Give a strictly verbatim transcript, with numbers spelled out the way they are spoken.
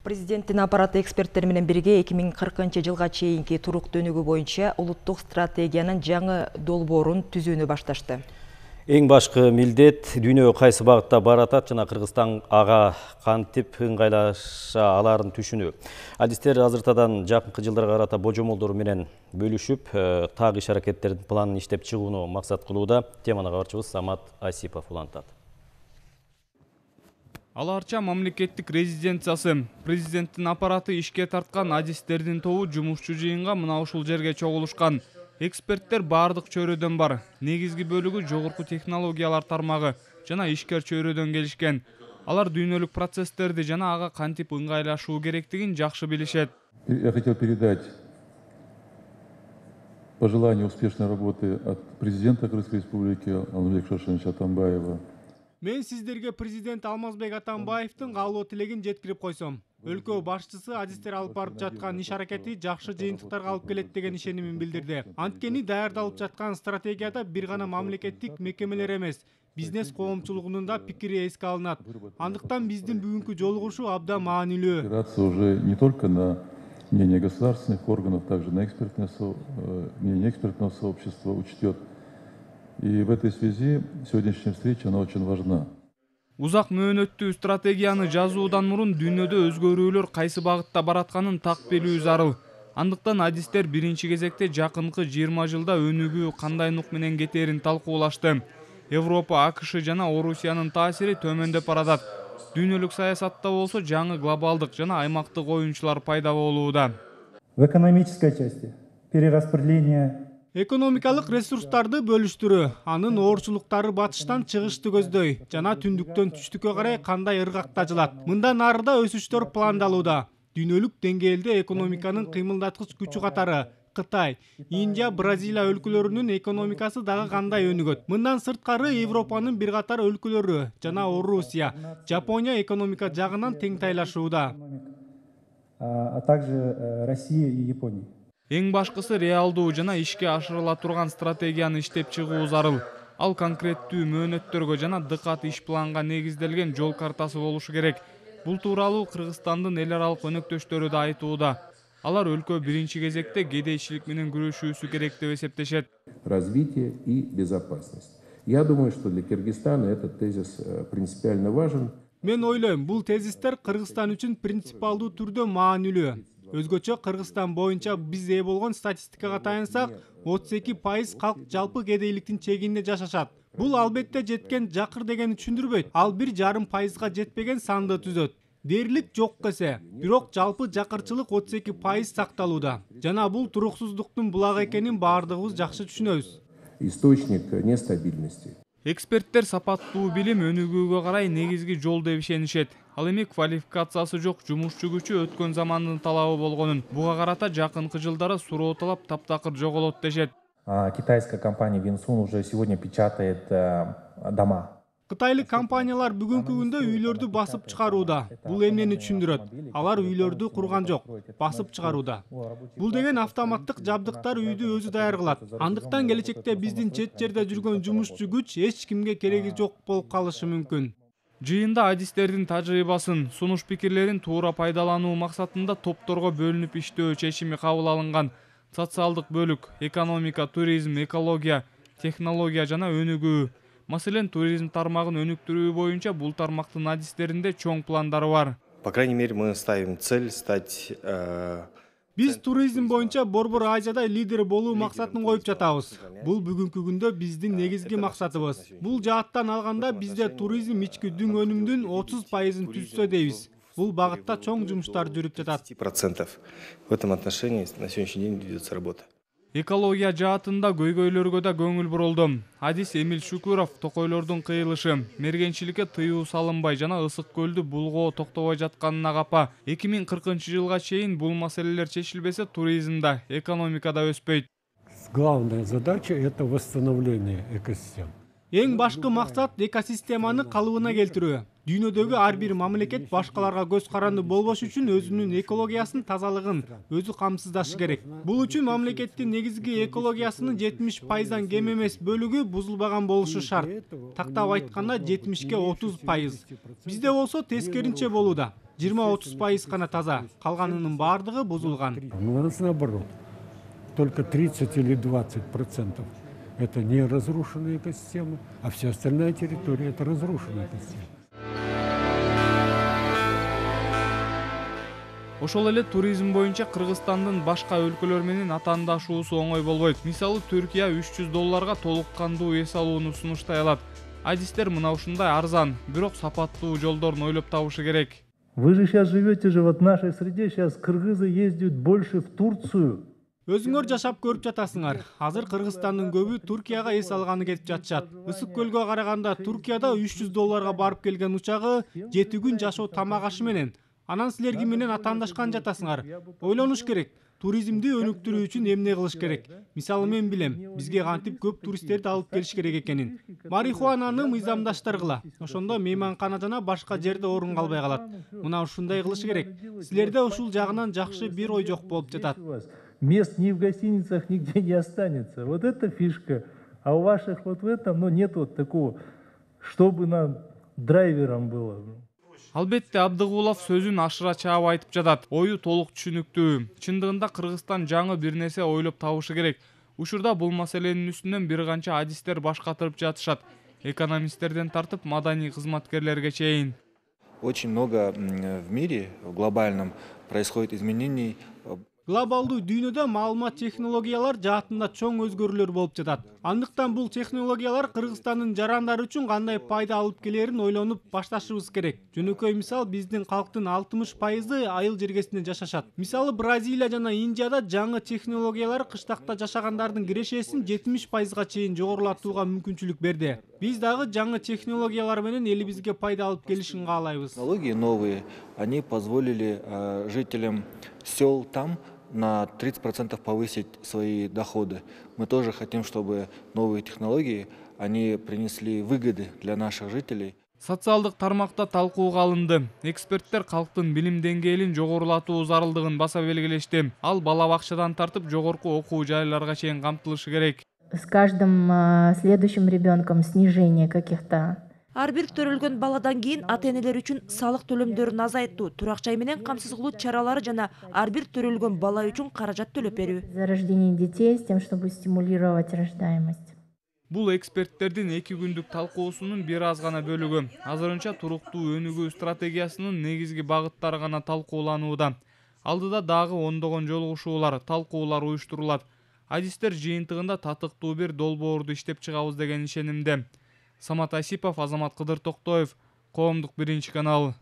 Президенттин аппараты эксперттер менен бирге эки миң кыркынчы жылга чейинки туруктуу өнүгүү боюнча улуттук стратегиянын жаңы долбоорун түзүүнү башташты. Эң башкы милдет дүйнө кайсы багытта баратат жана Кыргызстан ага кантип ыңгайлаша аларын түшүнүү. Адистер азыртадан жакынкы жылдарга карата божомолдору менен бөлүшүп, так иш-аракеттердин планын иштеп чыгууну максат кылууда. Теманы кабарчыбыз Самат Асипов улантат. Аларча мамлекеттик резиденциясы, президенттин аппараты ишке тарткан адистердин тобу жумушчу жыйынга мына ушул жерге чогулушкан. Эксперттер бардык чөйрөдөн бар. Негизги бөлүгү жогорку технологиялар тармагы жана ишкер чөйрөдөн келишкен. Алар дүйнөлүк процесстерди жана ага кантип ыңгайлашуу керектигин жакшы билишет. Я хотел передать пожелания успешной работы от президента Кыргызской республики Алмазбека Шаршеновича Атамбаева. Мен сиздерге президент Алмазбек Атамбаевдин каалоо тилегин жеткирип койсом. Өлкө башчысы адистер алып барып жаткан иш-аракети жакшы жыйынтыктарга алып келет деген ишенимин билдирди. Анткени даярдалып жаткан стратегияда бир гана мамлекеттик мекемелер эмес, бизнес коомчулугунун да пикири эске алынат. Андыктан биздин бүгүнкү жолугушуу абдан маанилүү. Опираться уже не только на мнение государственных органов, также на экспертное со... мнение экспертного сообщества учтет. И в этой связи сегодняшняя встреча, она очень важна. Узак мөөнөттүү стратегияны жазуудан мурун дүйнөдө өзгөрүүлөр кайсы багытта баратканын так билүү зарыл. Андыктан адистер биринчи кезекте жакынкы жыйырма жылда өнүгүү кандай нук менен кетерин талкуулашты. Европа, АКШ жана Орусиянын таасири төмөндөп баратат. Дүйнөлүк саясатта болсо жаңы глобалдык жана аймактык оюнчулар пайда болууда. В экономической части перераспределение Экономикалык ресурстарды бөлүштүрүү, анын оорчулуктары батыштан чыгышты көздөй, жана түндүктөн түштүккө карай кандай ыргактажылат. Мындан нарыда өсүштөр пландалууда. Дүйнөлүк деңгээлде экономиканын кыймылдаткыч күчү катары Кытай, Индия, Бразилия өлкөлөрүнүн экономикасы дагы кандай өнүгөт. Мындан сырткары Европанын бир катар өлкөлөрү жана Орусия, Жапония экономика жагынан тең тайлашууда. А также Россия и Япония. Эң башкысы реалдуу жана ишке ашырыла турган стратегияны иштеп чыгуу зарыл. Ал конкреттүү мөөнөттөргө жана дыкат иш планга негизделген жол картасы болушу керек. Бул тууралуу Кыргызстандын эл аралык өнөктөштөрү да айтууда. Алар өлкө биринчи кезекте кедейчилик менен күрөшүүсү керек деп эсептешет. Развитие и безопасность. Я думаю, что для Кыргызстана этот тезис принципиально важен. Мен ойлойм, бул тезистер Кыргызстан үчүн принципиалдуу түрдө маанилүү. Өзгөчө Кыргызстан боюнча биз ээ болгон статистикага таянсак, отуз эки пайыз калк жалпы кедейликтин чегинде жашашат. Бул албетте жеткен жакыр дегени түшүндүрбөйт. Ал бир жарым пайызга жетпеген санды түзөт. Дээрлик жок эсе, бирок жалпы жакырчылык отуз эки пайыз сакталууда. Жана бул туруксуздуктун булагы экенин баардыгыбыз жакшы түшүнөбүз. Источник нестабильности. Эксперттер сапаттуу билим өнүгүүгө карай негизги жол деп ишенишет. Ал эми квалификациясы жок жумушчу күчү өткөн замандын талабы болгонун, буга карата жакынкы жылдары суроо талап таптакыр жоголот дешет. Китайская компания Винсун уже сегодня печатает дома. Кытайлык компаниялар бүгүнкү күндө үйлөрдү басып чыгарууда. Бул эмнени түшүндүрөт? Алар үйлөрдү курган жок, басып чыгарууда. Бул деген автоматтык жабдыктар үйдү өзү даяр кылат. Андыктан келечекте биздин чет жерде жүргөн жумушчу күч эч кимге кереги жок болуп калышы мүмкүн. Жыйында адистердин тажрыйбасын, сунуш пикирлерин туура пайдалануу максатында топторго бөлүнүп иштөө чечими кабыл алынган. Социалдык бөлүк, экономика, туризм, экология, технология жана өнүгүү. Маселен, туризм тармагын өнүктүрүү боюнча бул тармактын адистеринде чоң пландары бар. По крайней мере, мы ставим цель стать... Биз туризм боюнча Борбор Азияда лидер болуу максатын коюп жатабыз. Бул бүгүнкү күндө биздин негизги максатыбыз. Бул жааттан алганда бизде туризм ички дүң өнүмдүн отуз пайызын түзсө дейбиз. Бул багытта чоң жумуштар жүрүп жатат. десять процентов в этом отношении на сегодняшний день ведется работа. Экология жаатында көйгөйлөргө да көңүл бурулду. Адис Эмил Шукуров токойлордун кыйылышы, мергенчиликке тыюу салынбай жана ысык көлдү булгоо токтобой жатканына капа. эки миң кыркынчы жылга чейин бул маселелер чечилбесе, туризмда, экономикада өспөйт. Главная задача — это восстановление экосистем. Эң башкы максат экосистеманы калыбына келтирүү. Дүйнөдөгү ар бир мамлекет башкаларга көз каранды болбош үчүн өзүнүн экологиясын, тазалыгын өзү камсыздашы керек. Бул үчүн мамлекеттин негизги экологиясынын жетимиш пайыздан кем эмес бөлүгү бузулбаган болушу шарт. Тактап айтканда жетимишке отуз пайыз. Бизде болсо тескеринче болууда. жыйырма отуз пайыз гана таза, калганынын баардыгы бузулган. Ну, у нас наоборот. Только тридцать или двадцать процентов это не разрушенная экосистема, а вся остальная территория это разрушенная экосистема. Ошол эле туризм боюнча Кыргызстандын башка өлкөлөр менен атаандашуусу оңой болбойт. Мисалы, Түркия үч жүз долларга толук кандуу эс алууну сунуштай алат. Адистер мына ушундай арзан, бирок сапаттуу жолдорун ойлоп табышы керек. Вы же сейчас живете же вот в нашей среде, сейчас кыргызы ездят больше в Турцию. Өзүңөр жашап көрүп жатасыңар. Азыр Кыргызстандын көбү Туркияга эс алганы кетип жатышат. Ысык көлгө караганда Туркияда үч жүз долларга барып келген учагы жети күн жашоо тамак ашы менен. Анан силер ким менен атаандашкан жатасыңар? Ойлонуш керек. Туризмди өнүктүрүү үчүн эмне кылыш керек? Мисалы мен билем, бизге кантип көп туристтерди алып келиш керек экенин. Марихуананы мыйзамдаштыргыла. Ошондо мейманкана жана башка жерде орун калбай калат. Мына ушундай кылыш керек. Силерде ушул жагынан жакшы бир ой жок болуп жатат. Мест ни в гостиницах нигде не останется. Вот это фишка. А у ваших вот в этом, ну, нет вот такого, чтобы нам драйвером было. Албетте, Абдыгулов сөзүн ашыра чаап айтып жатат. Ою толук түшүнүктүү. Чындыгында Кыргызстан жаңы бир нерсе ойлоп табышы керек. Учурда бул маселенин үстүнөн бир канча адистер баш катырып жатышат. Экономисттерден тартып маданий кызматкерлерге чейин. Очень много в мире, в глобальном, происходит изменений. Глобалдуу дүйнөдө маалымат технологиялар жаатында чоң өзгөрүүлөр болуп жатат. Андыктан бул технологиялар Кыргызстандын жарандары үчүн кандай пайда алып келерин ойлонуп башташыбыз керек. Жөнөкөй мисал, биздин калктын алтымыш пайызы айыл жергесинде жашашат. Мисалы, Бразилия жана Индияда жаңы технологиялар кыштакта жашагандардын кирешесин жетимиш пайызга чейин жогорулатууга мүмкүнчүлүк берди. Биз дагы жаңы технологиялар менен элибизге пайда алып келишин каалайбыз. Технологии новые, они позволили э, жителям сел там на тридцать процентов повысить свои доходы. Мы тоже хотим, чтобы новые технологии, они принесли выгоды для наших жителей. Социалдык тармакта талкууга алынды. Эксперттер калктын билим деңгээлин жогорулатуу зарылдыгын баса белгилешти. Ал бала бакчадан тартып жогорку окуу жайларга чейин камтылышы керек. С каждым следующим ребенком снижение каких-то. Ар бир төрөлгөн баладан кийин ата-энелер үчүн салык төлөмдөрүн азайтуу, турак жай менен камсыз кылуу чаралары жана ар бир төрөлгөн бала үчүн каражат төлөп берүү. За рождение детей с тем, чтобы стимулировать рождаемость. Бул эксперттердин эки күндүк талкуусунун бир аз гана бөлүгү. Азырынча туруктуу өнүгүү стратегиясынын негизги багыттары гана талкууланууда. Алдыда дагы ондогон жолугушуулар, талкуулар уюштурулат. Адистер жыйынтыгында татыктуу бир долбоорду иштеп чыгабыз деген ишенимде. Самат Асипов, Азамат Кыдыр Токтоев, Коомдук биринчи канал.